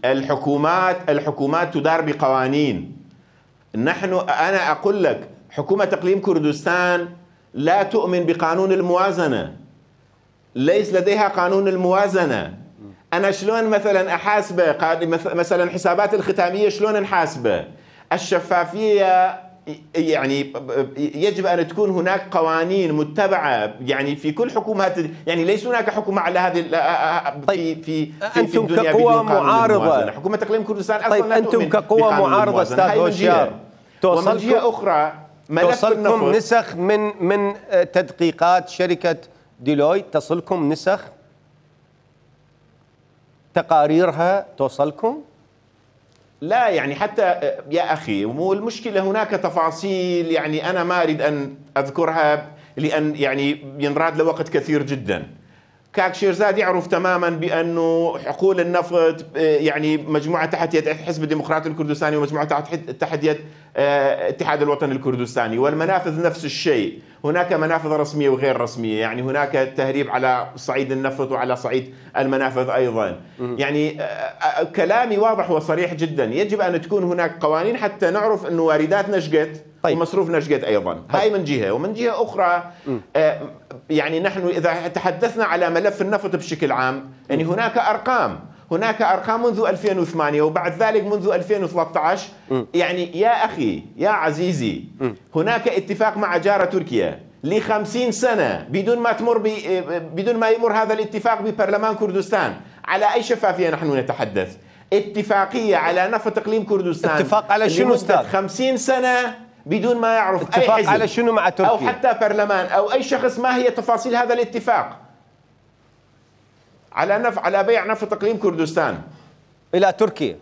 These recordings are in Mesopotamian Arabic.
الحكومات تدار بقوانين. أنا أقول لك حكومة إقليم كردستان لا تؤمن بقانون الموازنة، ليس لديها قانون الموازنة. أنا شلون مثلا أحاسبه؟ مثلا حسابات الختامية شلون نحاسبه؟ الشفافية يعني يجب أن تكون هناك قوانين متبعة يعني في كل حكومات، يعني ليس هناك حكومة على هذه في أنتم الدنيا كقوى معارضة. حكومة إقليم كردستان أصلا طيب لا تؤمن أنتم كقوى معارضة أستاذ هوشيار ومن جهة أخرى توصلكم نسخ من تدقيقات شركة ديلويت؟ تصلكم نسخ تقاريرها توصلكم؟ لا يعني حتى يا أخي، والمشكلة هناك تفاصيل يعني أنا ما أريد أن أذكرها لأن يعني ينراد لوقت كثير جدا. كاك شيرزاد يعرف تماما بأنه حقول النفط يعني مجموعة تحت يد حزب الديمقراطي الكردستاني ومجموعة تحت يد اتحاد الوطني الكردستاني، والمنافذ نفس الشيء. هناك منافذ رسمية وغير رسمية، يعني هناك تهريب على صعيد النفط وعلى صعيد المنافذ أيضا. يعني كلامي واضح وصريح جدا، يجب أن تكون هناك قوانين حتى نعرف أنه واردات نشقت ومصروف نشقت أيضا. هاي من جهة، ومن جهة أخرى يعني نحن إذا تحدثنا على ملف النفط بشكل عام، يعني هناك أرقام منذ 2008 وبعد ذلك منذ 2013. يعني يا أخي يا عزيزي، هناك اتفاق مع جارة تركيا ل50 سنة بدون ما يمر هذا الاتفاق ببرلمان كردستان. على أي شفافية نحن نتحدث؟ اتفاقية على نفط إقليم كردستان. اتفاق على شنو أستاذ؟ 50 سنة بدون ما يعرف أي حزب على شنو مع تركيا أو حتى برلمان أو أي شخص ما هي تفاصيل هذا الاتفاق على بيع نفط إقليم كردستان إلى تركيا.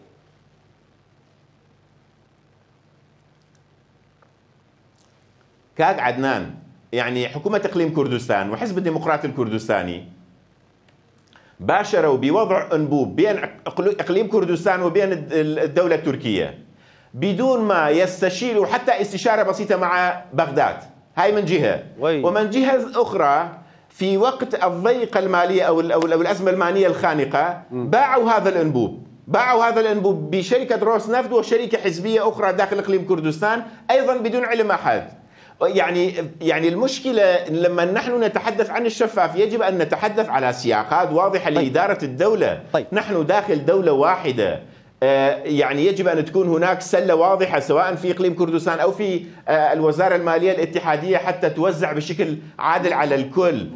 كاد عدنان، يعني حكومة إقليم كردستان وحزب الديمقراطي الكردستاني باشروا بوضع أنبوب بين إقليم كردستان وبين الدولة التركية بدون ما يستشيروا حتى استشارة بسيطة مع بغداد. هاي من جهة. ومن جهة أخرى في وقت الضيقة المالية أو الأزمة المالية الخانقة باعوا هذا الأنبوب بشركة روس نفط وشركة حزبية أخرى داخل إقليم كردستان أيضا بدون علم أحد. يعني المشكلة لما نحن نتحدث عن الشفاف يجب أن نتحدث على سياقات واضحة لإدارة الدولة. نحن داخل دولة واحدة، يعني يجب أن تكون هناك سلة واضحة سواء في إقليم كردستان أو في الوزارة المالية الاتحادية حتى توزع بشكل عادل على الكل.